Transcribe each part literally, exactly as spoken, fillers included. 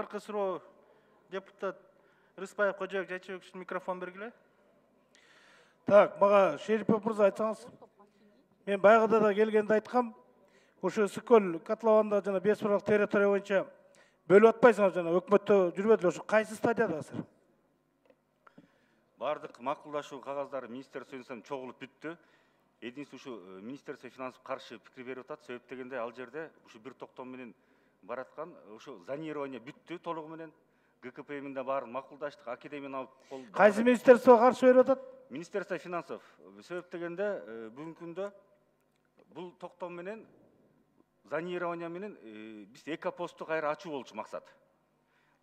акыркы суроо депутат Рыспаев Кожоек Жайчыбек үчүн микрофон бергиле. Так, мага Шерипов мырза айтсаңыз. Мен байгыда да келгенде айткам, ошо Ысык-Көл котлованында жана беш бирок территория боюнча бөлүп атпайсыңар жана өкмөттө жүрбөдүлө, ошо кайсы стадиядасызар? Бардык макулдашуу кагаздары министрликтен чогулуп бүттү. Единство ушу министрликте финансов каршы пикир берип атат. Себеп дегенде ал жерде ушу бир токтом менен бараткан, ушу зонирование бүттү толугу менен. ГКПМ да баарын макулдаштык, академияны кол. Кайсы министрликте каршы берип атат? Министрликте финансов. Себеп дегенде бүгүнкү күндө бул токтом менен зонирование менен биз экопостту кайра ачуу болчу максат.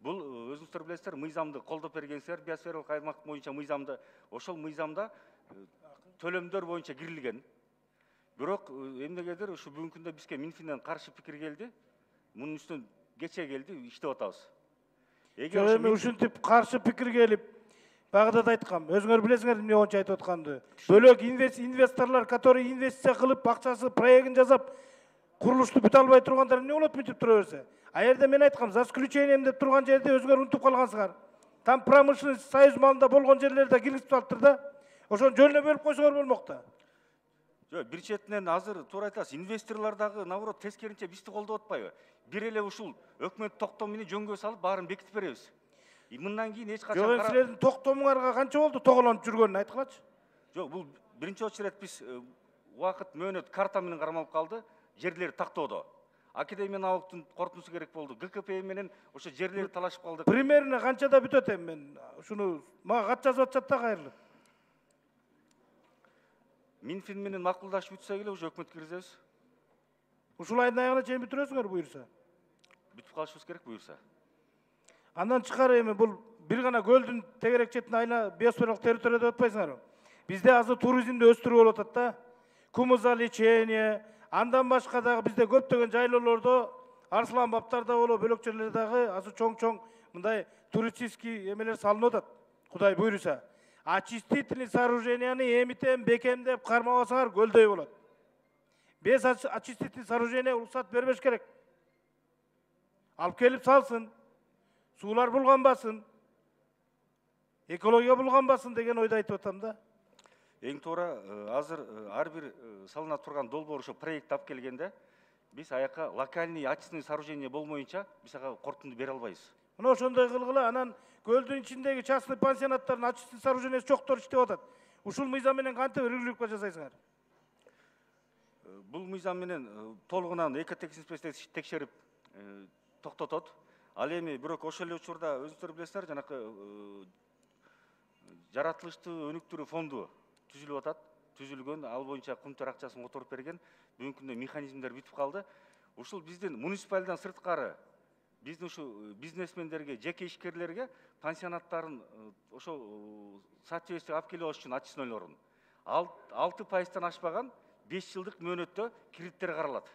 Бул өзүңүздөр билесиздер, мыйзамды колдоп бергенсиздер, биосфералык аймак боюнча мыйзамды, ошол мыйзамда төлөмдөр боюнча кирилген. Бирок эмнегедир ушу бүгүнкү күндө бизге Минфинден каршы пикир келди. Мунун үстүнөн кече келди, иштеп атабыз. Эгер эми ушинтип каршы пикир келип, багыда да айткам, өзүңөр билесиңер эмне боюнча айтып атканды. Бөлөк инвесторлор, которые инвестиция кылып, акчасы проектин жасап, курулушту бүтө албай тургандар эмне болот мынтип тура берсе? А жерде мен айткам, за исключением деп турган жерде өзүңөр унутуп калгансыңар. Там промышленный союз малында болгон жерлерде киргизип алыптыр да. Ошону жөнүнө бөлүп койсоңор болмок да. Жок, бир четинен азыр туура айтасыз, инвесторлор дагы наоборот тескеринче бизди колдоп атпайбы? Бир эле ушул өкмөт токтом менен жөнгө салып баарын бекитип беребиз. Мындан кийин эч качан Жок, силердин токтомуңарга канча болду тоголонуп жүргөнүн айткылачы. Жок, бул биринчи очередь биз убакыт мөөнөт карта менен кармалып калды, жерлер тактоодо. Академия налогтун корутуусу керек болду. ГКП менен ошо жерлерди талашып калдык. Примерно канчада бүтөт эми мен ушуну мага кат жазып атышат да кайрылып. Минфин менен макулдашып бүтсө эле уже өкмөткө киргизебиз. Ушул айдын аягына чейин бүтүрөсүңөр буюрса. Бүтүп калышыбыз керек буюрса. Андан тышкары эми бул бир гана көлдүн тегерек четине айла биосфералык территория деп атпайсыңарбы? Бизде азыр туризмди өстүрүү болуп атат да. Кумузалечение, андан башка дагы бизде көптөгөн жайлоолордо, Арслан баптарда боло, бөлөк жерлерде дагы азыр чоң-чоң мындай туристический эмелер салынып атат. Кудай буйруса. Очистительный сооруженияны эмитем, бекем деп кармабасаңар көлдөй болот. Без очистительный сооружение уруксат бербеш керек. Алып келип салсын. Суулар булганбасын. Экология булганбасын деген ойду айтып атам да. Эң туура азыр ар бир салына турган долбоор ошо проект алып келгенде биз аяка локальный очистный сооружение болмоюнча биз ага корутунду бере албайбыз. Мына ошондой кылгыла, анан көлдүн ичиндеги частный пансионаттардын очистный сооружениясы жоктор иштеп атат. Ушул мыйзам менен кантип регулировка жасайсыңар? Бул мыйзам менен толугунан экотехинспекция текшерип токтотот. Ал эми бирок ошол эле учурда өзүңүздөр билесиздер, жанакы жаратылыштуу өнүктүрүү фонду түзүлүп атат. Түзүлгөн, ал боюнча кумтөр акчасын которуп берген. Бүгүнкү күндө механизмдер бүтүп калды. Ушул биздин муниципалдан сырткары биздин ушу бизнесмендерге, жеке ишкерлерге пансионаттарын ошо соответствие алып келип алыш үчүн очистнойлорун алты пайыздан ашпаган беш жылдык мөөнөттө кредиттер каралат.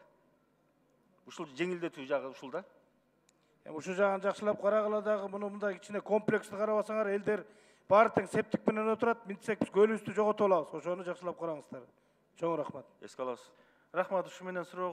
Ушул жеңилдетүү жагы ушул да. Эми ушул жагын жакшылап карагыла дагы, муну мындай кичине комплекстүү карабасаңар, элдер баары тең септик менен отурат, мынтсек биз көлүбүздү жоготуп алабыз. Ошону жакшылап караңыздар. Чоң рахмат. Эске алабыз. Рахмат, ушу менен суроо